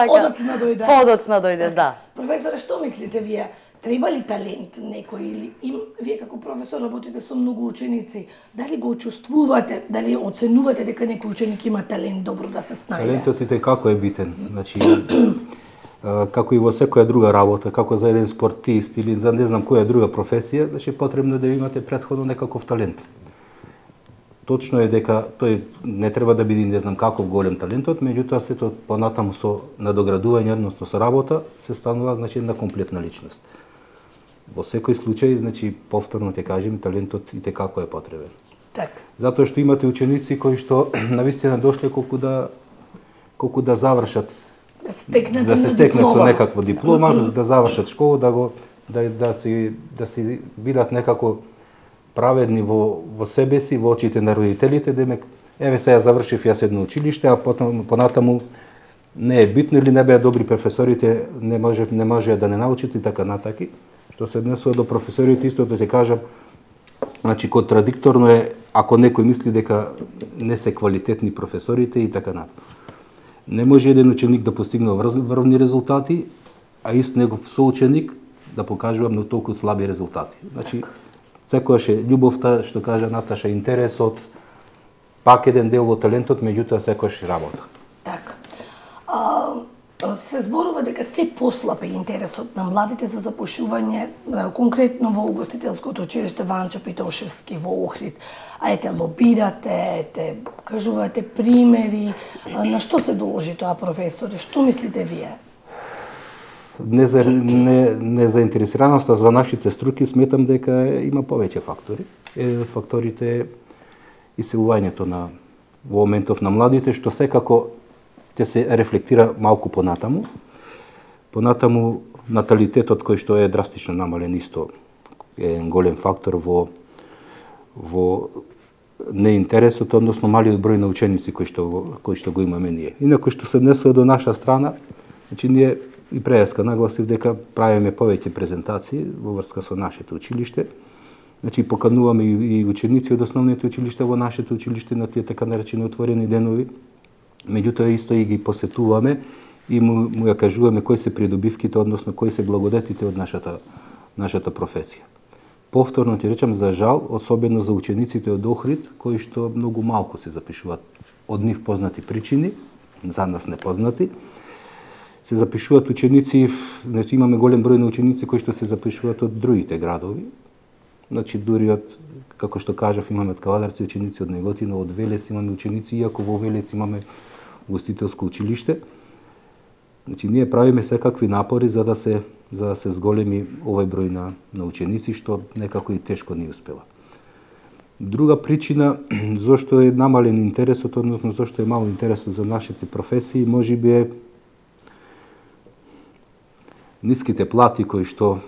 Подоцна дојде. Подоцна дојде, да. Професоре, што мислите вие? Треба ли талент некој или вие како професор работите со многу ученици, дали го чувствувате, дали оценувате дека некој ученик има талент добро да се снајде? Талентот и како е битен. Значи, како и во секоја друга работа, како за еден спортист или за не знам која друга професија, значи потребно да имате претходно некаков талент. Точно е дека тој не треба да биде не знам каков голем талентот, меѓутоа сето понатаму со надоградување, односно со работа, се станува значи една комплетна личност. Во секој случај, значи повторно ќе кажем, талентот и како е потребен. Така. Затоа што имате ученици кои што навистина дошле колку да завршат да се стекнат со некаква диплома, да завршат школа, да си бидат некако праведни во себе си, во очите на родителите, демек еве сега завршив јас едно училиште, а понатаму не е битно или не беа добри професорите, не може да не научите и така натаки. Што се однесува до професорите, истото ќе кажам, значи контрадикторно е ако некој мисли дека не се квалитетни професорите и така натака. Не може еден ученик да постигне врвни резултати, а ист негов соученик да покажува многу толку слаби резултати. Значи, секојаш е љубовта, што кажа Наташа, интересот, пак еден дел во талентот, меѓутоа секојаш работа. Така. се зборува дека се послаб е интересот на младите за запушување, конкретно во угостителското училиште Ванчо Питошевски во Охрид. А ете лобирате, кажувате примери, на што се должи тоа, професоре? Што мислите вие? Незаинтересираноста за нашите струки сметам дека има повеќе фактори. Еден од факторите е исилувањето во моментов на младите, што секако ќе се рефлектира малку понатаму. Понатаму наталитетот кој што е драстично намален исто е голем фактор во неинтересот, односно малиот број на ученици кои што го имаме ние. Инаку што се однесува до наша страна, значи ние и преска нагласив дека правиме повеќе презентации во врска со нашето училиште. Значи покануваме и ученици од основните училишта во нашето училиште на тие така наречени отворени денови. Меѓутоа исто и ги посетуваме и му ја кажуваме кои се придобивките, односно кои се благодетите од нашата професија. Повторно ти речам, за жал, особено за учениците од Охрид, кои што многу малку се запишуваат од нив познати причини, за нас непознати, се запишуваат ученици, значи имаме голем број на ученици кои што се запишуваат од другите градови. Значи дури од, како што кажав, имаме од Кавадарци ученици, од Неготино, од Велес имаме ученици, иако во Велес имаме угостителско училиште. Значи ние правиме секакви напори за да се зголеми овој број на ученици, што некако и тешко ни успева. Друга причина зошто е намален интересот, односно зошто е мал интересот за нашите професии, можеби е ниските плати кои што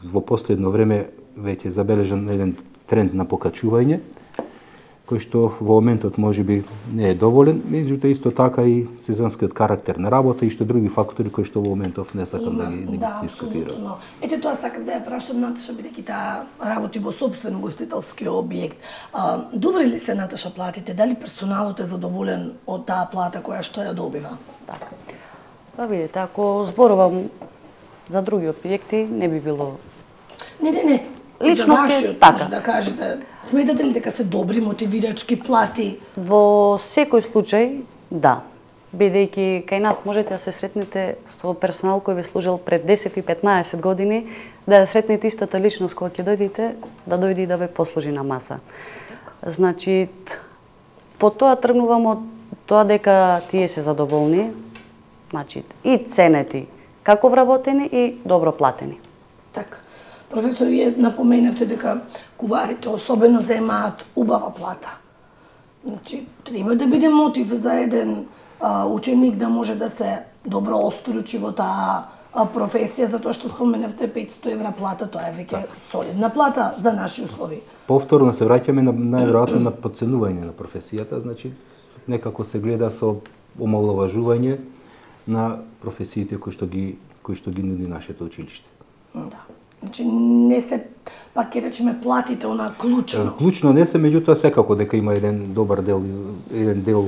во последно време веќе забележан еден тренд на покачување, кој што во моментот можеби не е доволен, меѓутоа исто така и сезонскиот карактер на работа и што други фактори кои што во моментов не сакам да ги дискутирам. Ете тоа сакав да ја прашам Наташа, бидејќи таа работи во собствен угостителски објект. Добри ли се, Наташа, платите? Дали персоналот е задоволен од таа плата која што ја добива? Така. Па видите, ако зборувам за други објекти, не би било. Не. Лично за вашиот, така. Да кажете, сметате ли дека се добри мотивирачки плати? Во секој случај, да. Бидејќи кај нас можете да се сретнете со персонал кој ви служил пред 10 и 15 години, да ја сретнете истата личност кога ќе дојдете, да дојде и да ве послужи на маса. Так. Значи, по тоа тргнувам од тоа дека тие се задоволни, значи и ценети, како вработени и добро платени. Така. Професор, вие напоменавте дека куварите особено земаат убава плата. Значи, треба да биде мотив за еден ученик да може да се добро остручи во таа професија, затоа што споменавте 500 евра плата, тоа е веќе солидна плата за наши услови. Повторно се враќаме најверојатно на подценување на професијата, значи некако се гледа со омаловажување на професиите кои што ги нуди нашето училиште. Да. Значи не се, пак ќе речеме, платите она клучно. Клучно не се, меѓутоа секако дека има еден добар дел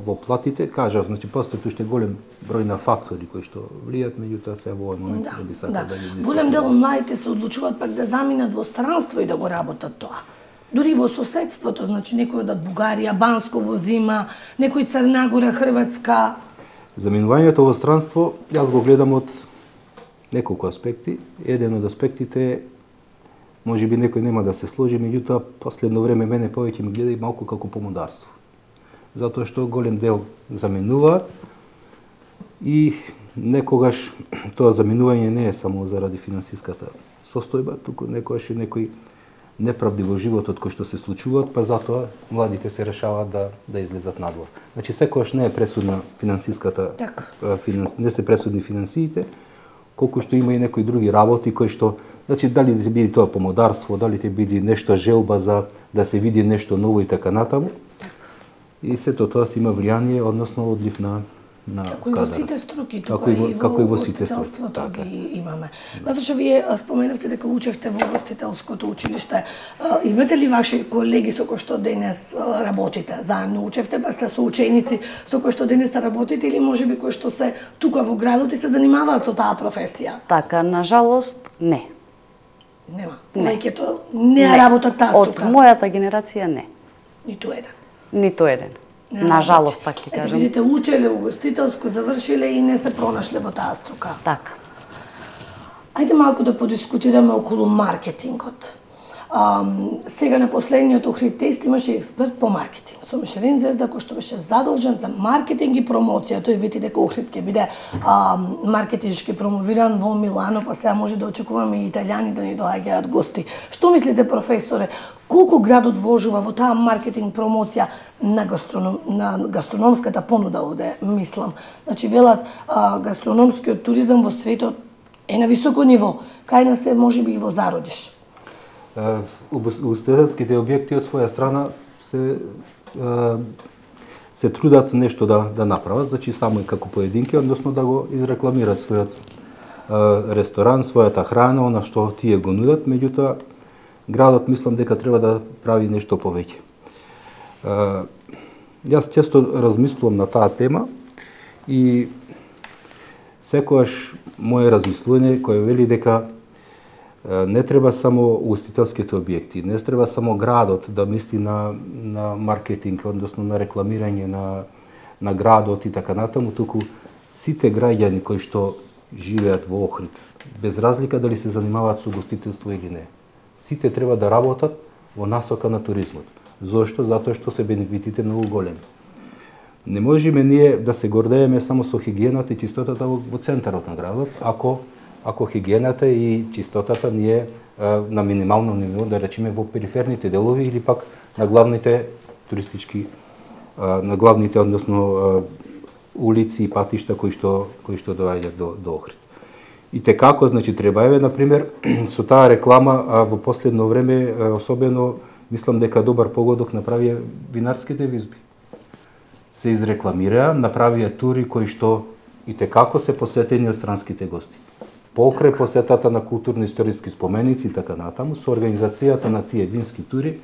во платите. Кажав, значи постои уште голем број на фактори кои што влијат, меѓутоа се во овој момент не би сакал да ги дискутирам. Голем дел од младите се одлучуваат пак да заминат во странство и да го работат тоа. Дури во соседството, значи некој од Бугарија, Бансково зима, некој Црна Гора, Хрватска. Заминувањето во странство јас го гледам од неколку аспекти. Еден од аспектите е, можеби некој нема да се сложи, меѓутоа последно време мене повеќе ми гледа и малку како помодарство. Затоа што голем дел заминуваат и некогаш тоа заминување не е само заради финансиската состојба, туку некогаш и некои неправди во животот кои што се случуваат, па затоа младите се решаваат да излезат надвор. Значи секогаш не е пресудна финансиската, не се пресудни финансиите, колку што има и некои други работи кои што, значи дали ќе биде тоа помодарство, дали ќе биде нешто желба за да се види нешто ново и така натаму. И сето тоа си има влијание, односно одлив на како и во сите струки, тука и во угостителството ги имаме. Наташа, вие споменавте дека учевте во угостителското училиште. Имате ли ваши колеги со кои што денес работите? Заедно учевте, па сте со ученици со кои што денес работите или можеби кои што се тука во градот и се занимаваат со таа професија? Така, на жалост, не. Нема. Повеќето не работат таа струка. Од мојата генерација не. Ниту еден. Ниту еден. На жалост, пак ќе кажам. Ете, видите, учеле угостителско, завршиле и не се пронашле во таа струка. Така. Ајде малку да подискутираме околу маркетингот. Сега на последниот Охрид тест имаше експерт по маркетинг со Мишелин Звезда кој што беше задолжен за маркетинг и промоција. Тој вети дека Охрид ќе биде маркетиншки промовиран во Милано, па сега може да очекуваме и италијани да ни доаѓаат гости. Што мислите, професоре, колку градот вложува во таа маркетинг промоција на гастрономската понуда овде, мислам. Значи велат гастрономскиот туризам во светот е на високо ниво. Кај нас е можеби и во зародиш. Угостителските објекти од своја страна се трудат нешто да направат, значи само и како поединки, односно да го изрекламираат својот ресторан, својата храна, она што тие го нудат, меѓутоа градот мислам дека треба да прави нешто повеќе. Јас често размислувам на таа тема и секогаш моје размислување кој вели дека не треба само угостителските објекти, не треба само градот да мисли на маркетинг, односно на рекламирање на градот и така натаму, туку сите граѓани кои што живеат во Охрид, без разлика дали се занимаваат со угостителство или не, сите треба да работат во насока на туризмот. Зошто? Затоа што се бенефитите многу големи. Не можеме ние да се гордееме само со хигиената и чистотата во центарот на градот, ако хигиената и чистотата не е на минимално ниво, да речеме во периферните делови или пак на главните туристички, на главните, односно улици и патишта кои што доаѓаат до Охрид. И како, значи, треба, например, со таа реклама во последно време, особено, мислам дека добар погодок направија винарските визби. Се изрекламираа, направија тури кои што и како се посетени од странските гости. Покрај посетата на културно-историски споменици и така натаму, со организацијата на тие вински тури,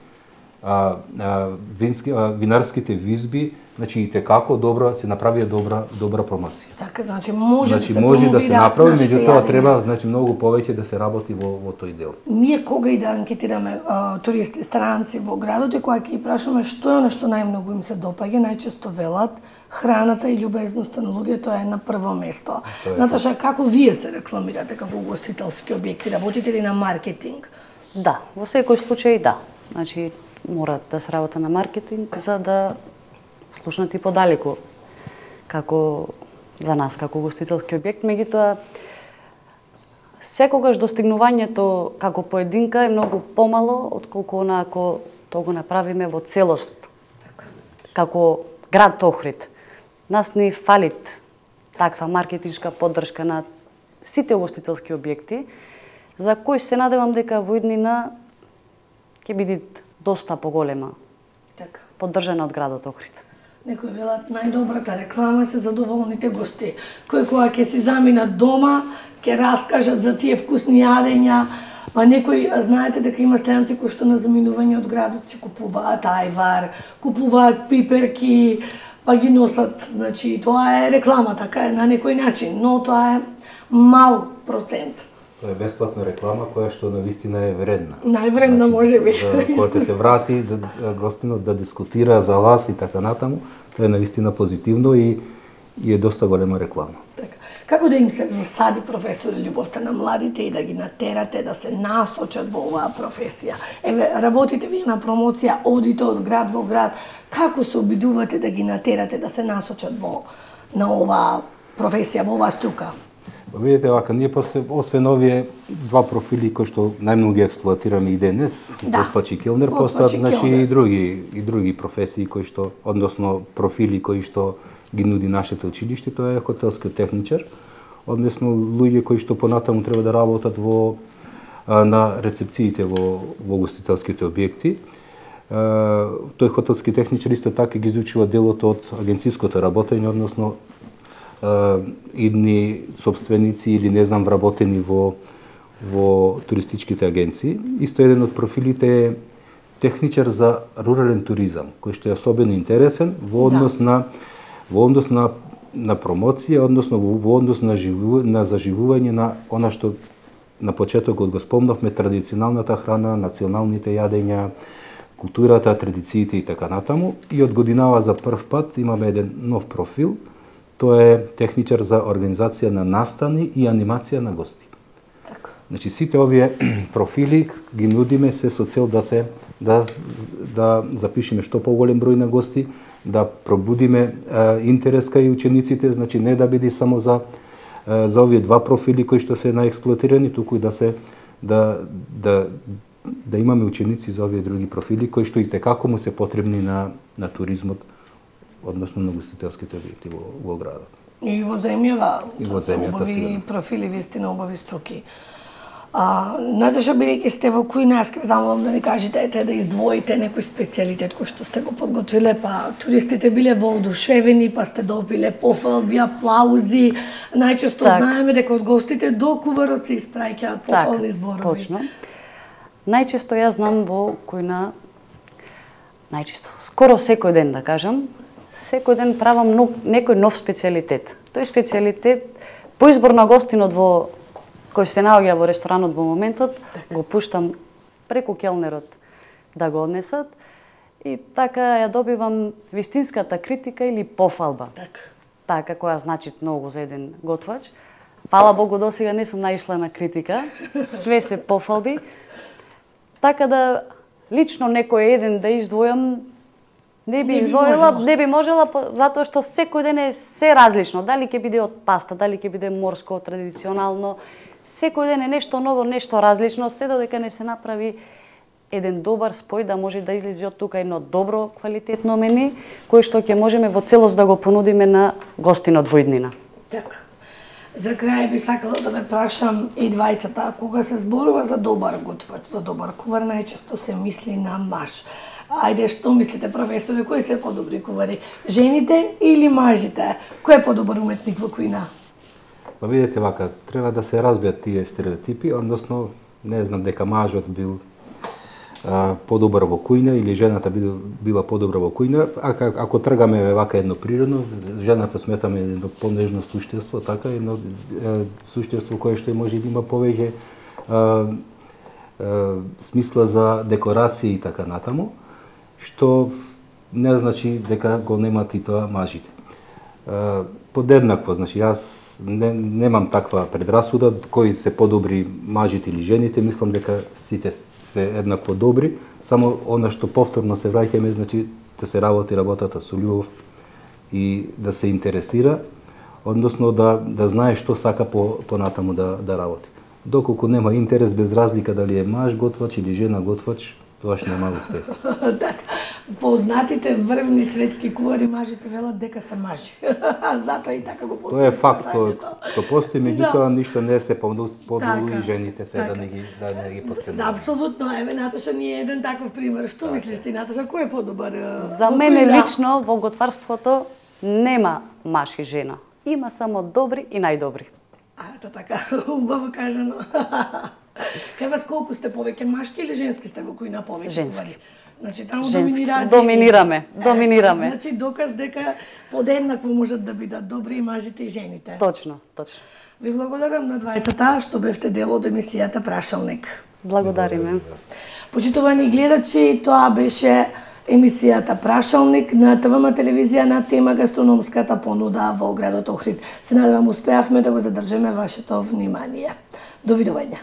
винарските визби, значи и како се направија добра промоција. Така, значи може да се направи, меѓутоа треба многу повеќе да се работи во тој дел. Ние кога и да анкетираме туристи, странци во градот, и кога ќе ги прашаме што е она што најмногу им се допаѓа, најчесто велат храната и љубезноста на луѓето е на прво место. Наташа, како вие се рекламирате како угостителски објекти? Работите ли на маркетинг? Да, во секој случај да. Значи, мора да се работи на маркетинг за да слушнат и подалеку како за нас како угостителски објект, меѓутоа секогаш достигнувањето како поединка е многу помало отколку ако тоа го направиме во целост. Како град Охрид. Нас ни фалит таква маркетиншка поддршка на сите угостителски објекти, за кои се надевам дека во иднина ќе биде доста поголема. Така. Поддржана од градот Охрид. Некои велат најдобрата реклама се задоволните гости, кои кога ќе си заминат дома, ќе раскажат за тие вкусни јадења, па некои знаете дека има странци кои што на заминување од градот си купуваат ајвар, купуваат пиперки, па ги носат, значи тоа е реклама, така е на некој начин, но тоа е мал процент. Тоа е бесплатна реклама која што навистина е вредна. Највредна можеби. Кога се врати гостинот да дискутира за вас и така натаму, тоа е навистина позитивно и е доста голема реклама. Така. Како да им се засади, професор, љубовта на младите и да ги натерате да се насочат во оваа професија? Еве, работите вие на промоција, одите од град во град, како се обидувате да ги натерате да се насочат на оваа професија, во оваа струка? Видите, вака, ние освен овие два профили кои што најмногу ги експлоатираме и денес, готвач и келнер, постојат и други професии кои што, односно профили кои што ги нуди нашето училиште, тоа е хотелскиот техничар, односно луѓе кои што понатаму треба да работат на рецепциите во угостителските објекти. Тој хотелски техничар исто така ги изучува делот од агенциското работење, односно идни собственици или не знам вработени во туристичките агенции. Исто еден од профилите е техничар за рурален туризам, кој што е особено интересен во однос на промоција, односно во однос на заживување на она што на почетокот го спомнавме, традиционалната храна, националните јадења, културата, традициите и така натаму. И од годинава за прв пат имаме еден нов профил. Тоа е техничар за организација на настани и анимација на гости. Така. Значи сите овие профили ги нудиме се со цел да запишеме што поголем број на гости, да пробудиме интерес кај учениците, значи не да биде само за овие два профили кои што се наексплоатирани, туку и да имаме ученици за овие други профили кои што и текако му се потребни на туризмот, односно на гостителските објекти во градот. И во земјава, И во земјата убави профили, вистина убави струки. Наташа, бидејќи сте во кујна, јас ќе замолам да ни кажете, да издвоите некој специјалитет кој што сте го подготвиле, па туристите биле воодушевени, па сте добиле пофалби, аплаузи. Најчесто знаеме дека од гостите до куварот се испраќаат пофални зборови. Точно. Најчесто јас знам во кујна, скоро секој ден да кажам, секој ден правам некој нов специјалитет. Тој специјалитет по избор на гостинот кој се наоѓа во ресторанот во моментот, го пуштам преку келнерот да го однесат и така ја добивам вистинската критика или пофалба. Така која значи многу за еден готвач. Фала Богу, досега не сум наишла на критика, све се пофалби. Така да лично некој еден да издвојам не би можела, затоа што секој ден е се различно. Дали ќе биде од паста, дали ќе биде морско, традиционално. Секој ден е нешто ново, нешто различно, се додека не се направи еден добар спој да може да излезе од тука едно добро, квалитетно мени, кој што ќе можеме во целост да го понудиме на гостинот во иднина. Така. За крај би сакала да ме прашам и двајцата, кога се зборува за добар готвач, за добар кувар, најчесто се мисли на маж. Ајде, што мислите, професоре, кои се подобри кувари? Жените или мажите? Кој е подобар уметник во кујна? Па видите вака, треба да се разбијат тие стереотипи, односно не знам дека мажот бил подобар во кујна или жената била подобра во кујна. Ако тргаме вака едно природно, жената сметаме едно понежно суштество, така едно суштество кое што може да има повеќе смисла за декорации и така натаму, што не значи дека го немат и тоа мажите. Подеднакво, значи јас немам таква предрасуда кои се подобри мажите или жените, мислам дека сите се еднакво добри, само она што повторно се враќаме, значи да се работи работата со љубов и да се интересира, односно да знае што сака понатаму да работи. Доколку нема интерес, без разлика дали е маж готвач или жена готвач, тоа што нема успех. Така. Познатите врвни светски кувари мажите велат дека се мажи. Затоа и така го постави. Тоа е факт, што постои, меѓутоа ништо не се подолу и жените се да не ги подценуваме. Апсолутно, еве Наташа ни е еден таков пример. Што мислиш ти, Наташа, кој е подобар? За мене лично во готварството нема маж и жена. Има само добри и најдобри. Ето така, убаво кажано. Кај вас колку сте повеќе машки или женски сте во кујна повеќе? Женски. Значи таму доминираат. Доминираме. Значи доказ дека подеднакво можат да бидат добри и мажите и жените. Точно. Ви благодарам на двајцата што бевте дел од емисијата Прашалник. Благодариме. Почитувани гледачи, тоа беше емисијата Прашалник на ТВМ телевизија на тема гастрономската понуда во градот Охрид. Се надевам успеавме да го задржиме вашето внимание. Довидување.